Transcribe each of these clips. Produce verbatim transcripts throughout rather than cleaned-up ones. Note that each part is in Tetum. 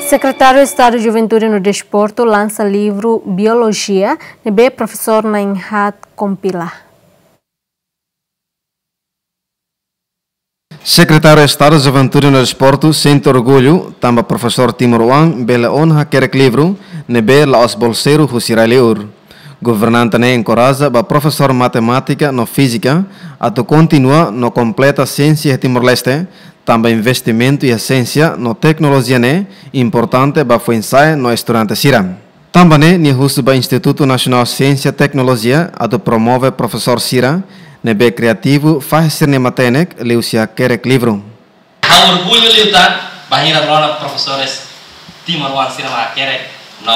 Sekretáriu Estadu Juventude no Desportu lansa livru Biolojia, ne'ebé profesór na'in-haat kompila. Sekretáriu Estadu Juventude no Desportu sente orgullu tanba profesór timoroan bele ona hakerek livru ne'ebé la'ós bolseiru husi rai-li'ur. Governante ne'e enkoraja ba profesór matemátika no fízika atu kontinua no kompleta siénsia iha Timor-Leste, tanba investimentu iha siénsia no teknolojia ne'e importante ba foin-sa'e no estudante sira. Tanba ne'e nia husu ba Institutu Nasionál Siénsia Teknolojia atu promove profesór sira ne'ebé kriativu fahe sira-nia matenek liuhusi hakerek livru. Ha'u orgullu liután bainhira rona profesores timoroan sira mak hakerek no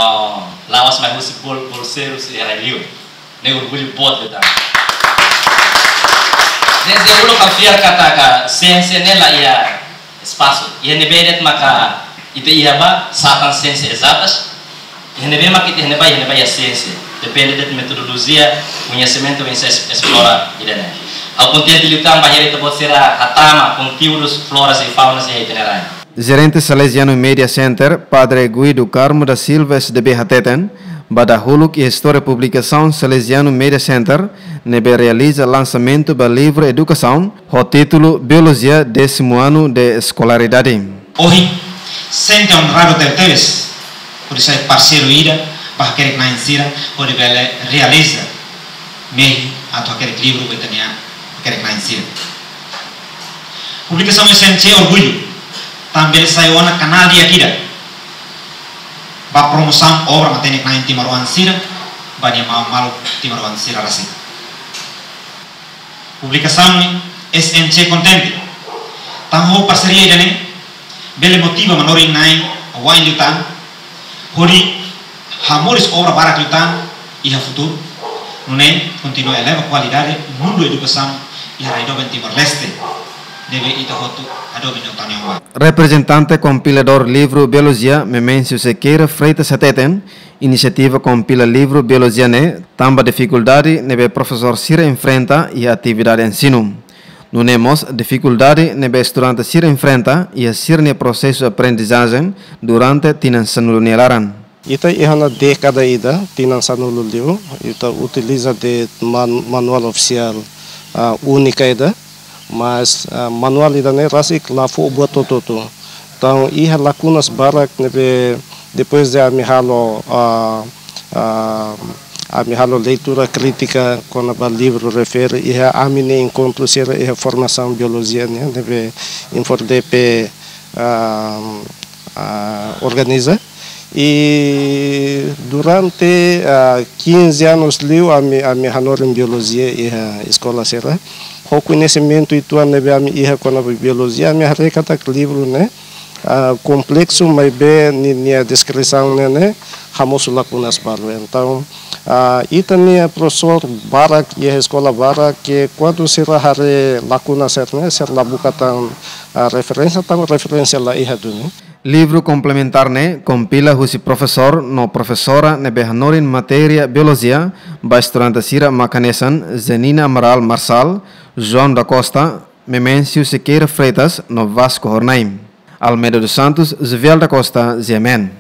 la'ós mai husi bol-, bolseiru sira rai-li'ur. Ne'e orgullu boot liután. Ne'e uluk ha'u fiar katak siénsia ne'e la iha espasu. Iha ne'ebé de'it maka ita iha ba satan siénsia ezatas. Iha ne'ebé maka ita iha ne'ebá, iha ne'ebá iha siénsia. Depende de'it metodolojia, koñesimentu, oinsá es-, esplora ida-ne'e. Ha'u kontente liután bainhira ita-boot sira hatama konteúdus floras e faunas iha ita-nia rai. Jerente Salesiano Media Center, Padre Guido Carmo da Silva, S D B, hateten, ba dahuluk iha istória publikasaun Salesiano Media Center ne'ebé realiza lansamentu ba livru edukasaun ho títulu Biolojia, décimo ano de escolaridade. Ohin, sente onradu tebetebes hodi sai parseiru ida ba hakerek-na'in sira hodi bele realiza mehi atu hakerek livru ba ita-nia hakerek-na'in sira. Publikasaun S M C orgullu tanba bele sai ona kanál di'ak ida ba promosaun obra matenek-na'in timoroan sira ba nia maun-maluk timoroan sira rasik. Publikasaun S M C kontente tanba ho parseria ida-ne'e bele motiva manorin-na'in wa'in liután hodi hamoris obra barak liután iha futuru, nune'e kontinua eleva kualidade mundu edukasaun iha rai doben Timor-Leste ne'ebé ita hotu hadomi no tanion ba. Reprezentante kompiladór livru Biolojia, Memêncio Sequeira Freitas, hateten, inisiativa kompila livru Biolojia ne'e tanba difikuldade ne'ebé profesór sira enfrenta iha atividade ensinu. Nune'e mós difikuldade ne'ebé estudante sira enfrenta iha sira-nia prosesu aprendizajen durante tinan sanulu nia laran. Ita iha ona dékada ida, tinan sanulu liu, ita utiliza de'it man-, manuál ofisiál, ah, únika ida, mas, ah, manuál ida-ne'e rasik la fó buat hotu-hotu. Entaun, iha lakunas barak ne'ebé depois de ami halo, ah, ah, ami halo leitura krítika kona-ba livru refere, iha ami-nia enkontru sira iha formasaun biolojia nian ne'ebé INFORDEPE, ah, ah, organiza. I durante, ah, quinze anos liu ami, ami hanorin biolojia iha eskola sira. Ho koñesimentu uitoan ne'ebé ami iha kona-ba biolojia, ami haree katak livru ne'e, ah, kompleksu maibé ni-, nia deskrisaun ne'e, ne'e hamosu lakunas balu. Entaun, ah, ita-nia profesór barak iha eskola barak ke kuandu sira haree lakunas sira-ne'e, sira la buka tan, ah, referénsia, tan referénsia la iha duni. Livru komplementár ne'e kompila husi profesór no profesora ne'ebé hanorin matéria biolojia ba estudante sira mak hanesan Zenina Amaral Marçal, João da Costa, Memêncio Sequeira Freitas no Vasco Hornai. Almeida dos Santos, Juvial da Costa, G M N.